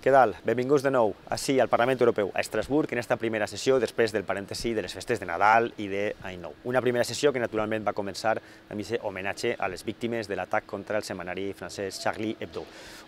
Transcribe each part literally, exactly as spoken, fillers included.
Què tal? Benvinguts de nou així al Parlament Europeu, a Estrasburg, en esta primera sessió després del parèntesi de les festes de Nadal i d'Any Nou. Una primera sessió que naturalment va començar amb aquest homenatge a les víctimes de l'atac contra el setmanari francès Charlie Hebdo.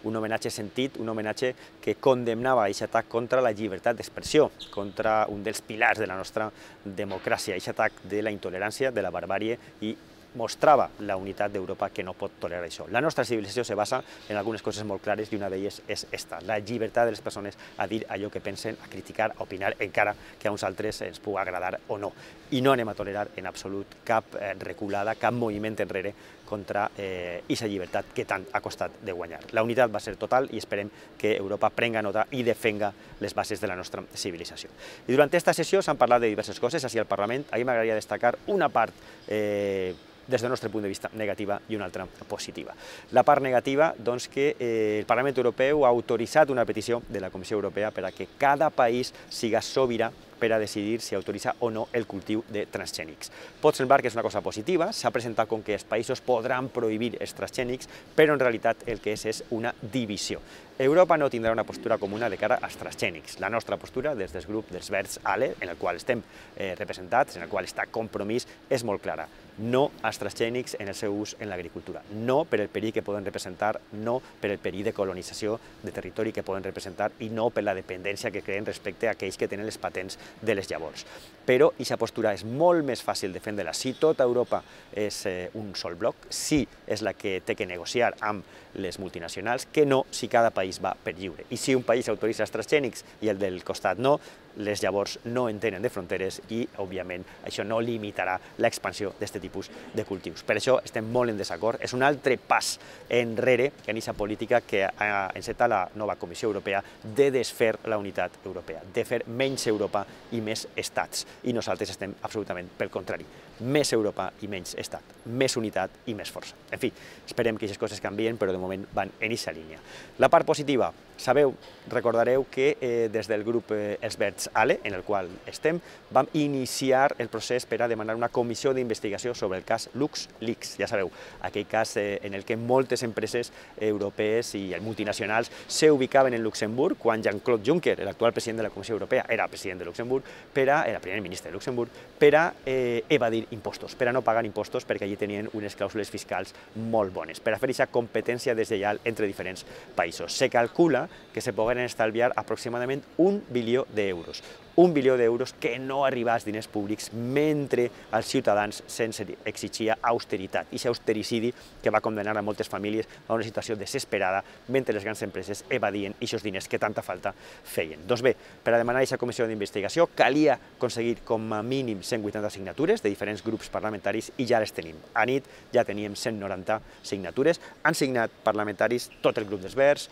Un homenatge sentit, un homenatge que condemnava aquest atac contra la llibertat d'expressió, contra un dels pilars de la nostra democràcia, aquest atac de la intolerància, de la barbàrie i mostrava la unitat d'Europa que no pot tolerar això. La nostra civilització se basa en algunes coses molt clares i una d'elles és esta, la llibertat de les persones a dir allò que pensen, a criticar, a opinar, encara que a uns altres ens pugui agradar o no. I no anem a tolerar en absolut cap reculada, cap moviment enrere contra aquesta llibertat que tant ha costat de guanyar. La unitat va ser total i esperem que Europa prenga nota i defenga les bases de la nostra civilització. I durant aquesta sessió s'han parlat de diverses coses així al Parlament. A mi m'agradaria destacar una part eh, des del nostre punt de vista negativa i una altra positiva. La part negativa, doncs, que eh, el Parlament Europeu ha autoritzat una petició de la Comissió Europea per a que cada país siga sobirà per a decidir si autoritza o no el cultiu de transgènics. Pot semblar que és una cosa positiva, s'ha presentat com que els països podran prohibir els transgènics, però en realitat el que és és una divisió. Europa no tindrà una postura comuna de cara als transgènics. La nostra postura, des del grup dels Verds ALE, en el qual estem eh, representats, en el qual està Compromís, és molt clara. No als transgènics en el seu ús en l'agricultura. No per el perill que poden representar, no per el perill de colonització de territori que poden representar i no per la dependència que creen respecte a aquells que tenen les patents de les llavors. Però aquesta postura és molt més fàcil de defendre-la si tota Europa és eh, un sol bloc, si és la que té que negociar amb les multinacionals, que no si cada país va per lliure. I si un país autoritza els transgènics i el del costat no, les llavors no en tenen de fronteres i, òbviament, això no limitarà l'expansió d'aquest tipus de cultius. Per això estem molt en desacord. És un altre pas enrere en aquesta política que ha encetat la nova Comissió Europea de desfer la unitat europea, de fer menys Europa i més estats. I nosaltres estem absolutament pel contrari. Més Europa i menys estat, més unitat i més força. En fi, esperem que aquestes coses canvien, però de moment van en aquesta línia. La part positiva, sabeu, recordareu que eh, des del grup eh, Els Verds ALE, en el qual estem, vam iniciar el procés per a demanar una comissió d'investigació sobre el cas LuxLeaks. Ja sabeu, aquell cas eh, en el que moltes empreses europees i multinacionals s'ubicaven en Luxemburg quan Jean-Claude Juncker, l'actual president de la Comissió Europea, era president de Luxemburg, per a, era primer ministre de Luxemburg, per a eh, evadir impostos, per a no pagar impostos perquè allí tenien unes clàusules fiscals molt bones, per a fer aquesta competència deslleial entre diferents països. Se calcula que se poden estalviar aproximadament un bilió d'euros. Un bilió d'euros que no arriba als diners públics mentre als ciutadans se'ns exigia austeritat. I aquest austericidi que va condenar a moltes famílies a una situació desesperada mentre les grans empreses evadien aquests diners que tanta falta feien. Doncs bé, per a demanar aquesta comissió d'investigació calia aconseguir com a mínim cent vuitanta signatures de diferents grups parlamentaris i ja les tenim. A nit ja teníem cent noranta signatures. Han signat parlamentaris tot el grup dels Verds,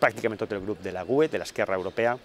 pràcticament tot el grup de la GUE, de l'Esquerra Europea,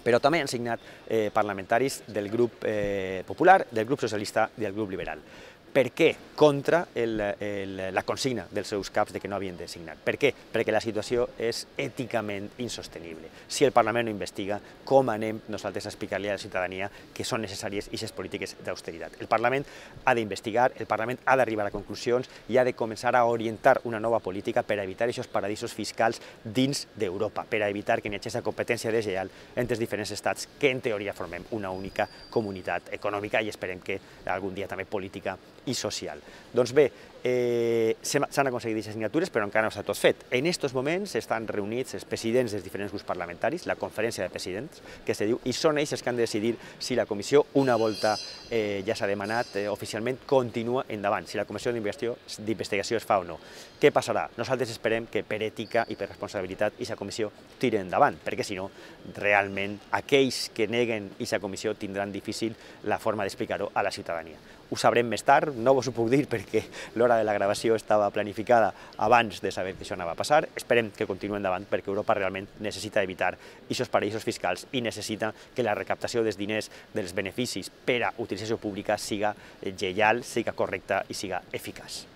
però també han signat eh, parlamentaris del grup eh, popular, del grup socialista i del grup liberal. Per què? Contra el, el, la consigna dels seus caps de que no havien de signar. Per què? Perquè la situació és èticament insostenible. Si el Parlament no investiga, com anem nosaltres a explicar-li a la ciutadania que són necessàries aquestes polítiques d'austeritat? El Parlament ha d'investigar, el Parlament ha d'arribar a conclusions i ha de començar a orientar una nova política per a evitar aquests paradisos fiscals dins d'Europa, per a evitar que hi hagi aquesta competència deslleial entre els diferents estats que en teoria formem una única comunitat econòmica i esperem que algun dia també política i social. Doncs bé, eh, s'han aconseguit aquestes signatures, però encara no s'ha tot fet. En aquests moments estan reunits els presidents dels diferents grups parlamentaris, la conferència de presidents, que se diu, i són ells els que han de decidir si la comissió, una volta eh, ja s'ha demanat eh, oficialment, continua endavant, si la comissió d'investigació es fa o no. Què passarà? Nosaltres esperem que per ètica i per responsabilitat aquesta comissió tiri endavant, perquè si no, realment, aquells que neguen aquesta comissió tindran difícil la forma d'explicar-ho a la ciutadania. Ho sabrem més tard, no vos ho puc dir perquè l'hora de la gravació estava planificada abans de saber que això anava a passar. Esperem que continuï endavant perquè Europa realment necessita evitar aquests paradisos fiscals i necessita que la recaptació dels diners, dels beneficis per a utilització pública siga lleial, siga correcta i siga eficaç.